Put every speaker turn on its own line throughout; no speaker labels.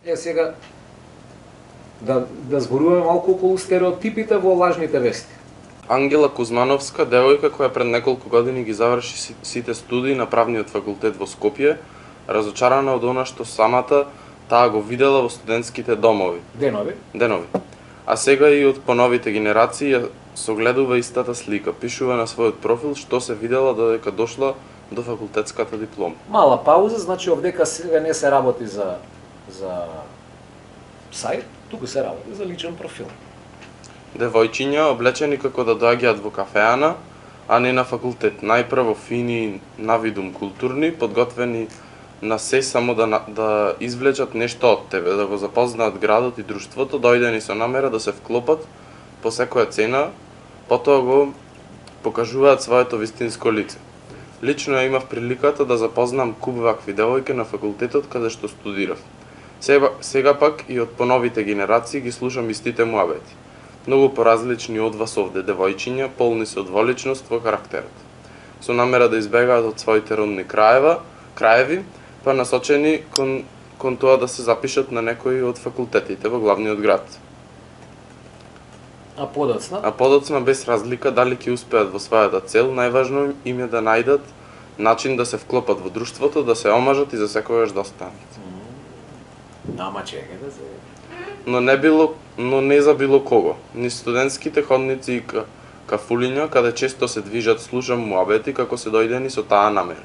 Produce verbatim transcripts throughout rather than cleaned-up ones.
Е, сега, да, да зборуваме малку околу стереотипите во лажните вести.
Ангела Кузмановска, девојка која пред неколку години ги заврши сите студии на правниот факултет во Скопје, разочарана од она што самата таа го видела во студентските домови.
Денови.
Денови. А сега и од поновите генерации ја согледува истата слика. Пишува на својот профил што се видела додека дошла до факултетската диплома.
Мала пауза, значи овдека сега не се работи за за сајт, туку се работи за личен профил.
Девојчиња облечени како да доаѓаат во кафеана, а не на факултет. Најпрво фини, навидум културни, подготвени на се само да, да извлечат нешто од тебе, да го запознаат градот и друштвото, дојдени со намера да се вклопат по секоја цена, потоа го покажуваат своето вистинско лице. Лично ја имав приликата да запознам куп вакви девојки на факултетот каде што студирав. Сега, сега пак и од поновите генерации ги слушам истите муабети. Многу поразлични од вас овде девојчиња, полни со дволичност во карактерот. Со намера да избегаат од своите родни краева, краеви, па насочени кон, кон тоа да се запишат на некои од факултетите во главниот град.
А подоцна?
А подоцна без разлика дали ќе успеат во својата цел, најважно им е да најдат начин да се вклопат во друштвото, да се омажат и за секогаш да останат.
Ама чекај да се...
Но не било, но не за било кого. Ни студентските ходници и ка, кафулиња, каде често се движат, слушам муабети како се дојдени со таа намера.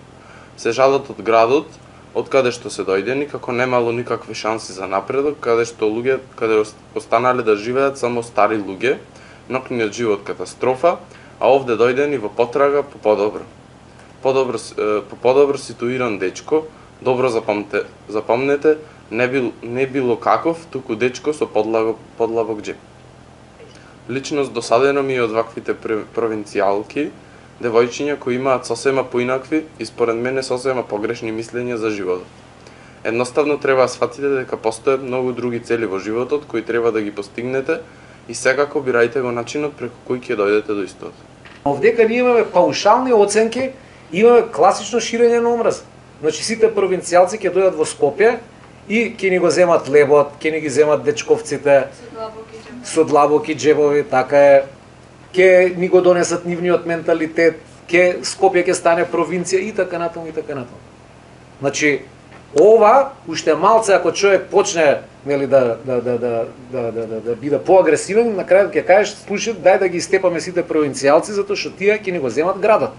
Се жалат од градот, од каде што се дојдени, како немало никакви шанси за напредок, каде што луѓе, каде останале да живеат само стари луѓе, нокниот живот катастрофа, а овде дојдени во потрага по подобро. Подобро по подобро ситуиран дечко, добро запомнете, запомнете, не бил не било каков, туку дечко со подлабок подлабок џеп. Личност досадено ми е од ваквите провинцијалки, девојчиња кои имаат сосема поинакви и според мене сосема погрешни мислења за животот. Едноставно треба да сфатите дека постојат многу други цели во животот кои треба да ги постигнете и секако бирајте го начинот преку кој ќе дојдете до истото.
Овдека ние имаме паушални оценки, имаме класично ширење на омраз. Значи сите провинцијалци ќе дојдат во Скопје и ќе ни го земат лебот, ќе ни ги земат дечковците со длабоки џебови, така е. Ќе ни го донесат нивниот менталитет, ќе Скопје ќе стане провинција и така натаму и така натаму. Значи ова уште малце ако човек почне, нели, да да да да да да да, да биде поагресивен, на крајот ќе кажеш, слушај, дај да ги степаме сите провинцијалци затоа што тие ќе ни го земат градот.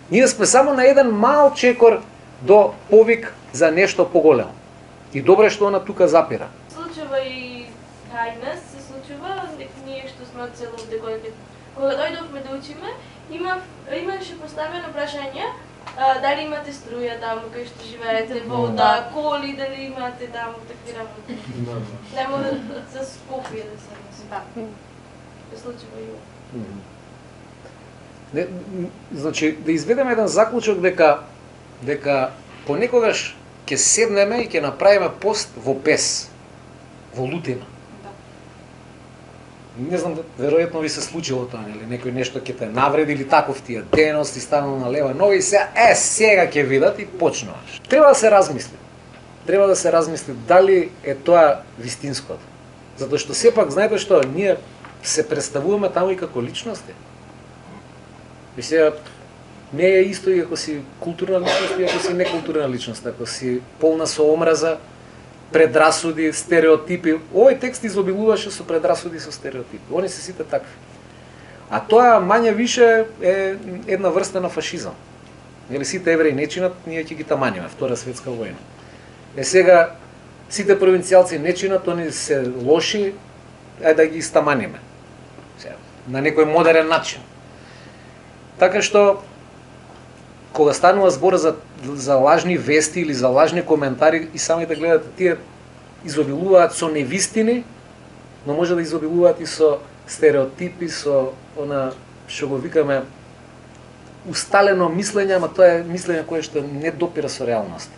Ние сме само на еден мал чекор до повик за нешто поголемо. И добре што она тука запира.
Случува и кај нас се случува, ние што сме од село Декојке. Кога дојдовме да учиме, има имаше поставено прашање а, дали имате струја таму кај што живеете, вода, коли, дали имате таму такви работи. Не мора за Скопје да се мисли. Да. Се случува и ова.
Не, значи да изведеме еден заклучок дека дека понекогаш ќе седнеме и ќе направиме пост во бес, во лутина.
Да.
Не знам, веројатно ви се случило тоа, нели, некој нешто ќе те навреди или таков тие деност и станал на лева нога и се е сега ќе видат и почнуваш. Треба да се размисли. Треба да се размисли дали е тоа вистинското. Затоа што сепак знаете што, ние се представуваме таму и како личности. И сега не е исто и ако си културна личност и ако си некултурна личност, ако си полна со омраза, предрасуди, стереотипи. Овој текст изобилуваше со предрасуди, со стереотипи. Они се сите такви. А тоа мање више е една врста на фашизам. Нели сите евреи не чинат, ние ќе ги таманиме, Втора светска војна. Е сега сите провинцијалци не чинат, они се лоши, ајде да ги стаманиме. Сега, на некој модерен начин. Така што кога станува збор за за лажни вести или за лажни коментари и самите гледате, тие изобилуваат со невистини, но може да изобилуваат и со стереотипи, со она што го викаме усталено мислење, ама тоа е мислење кое што не допира со реалноста.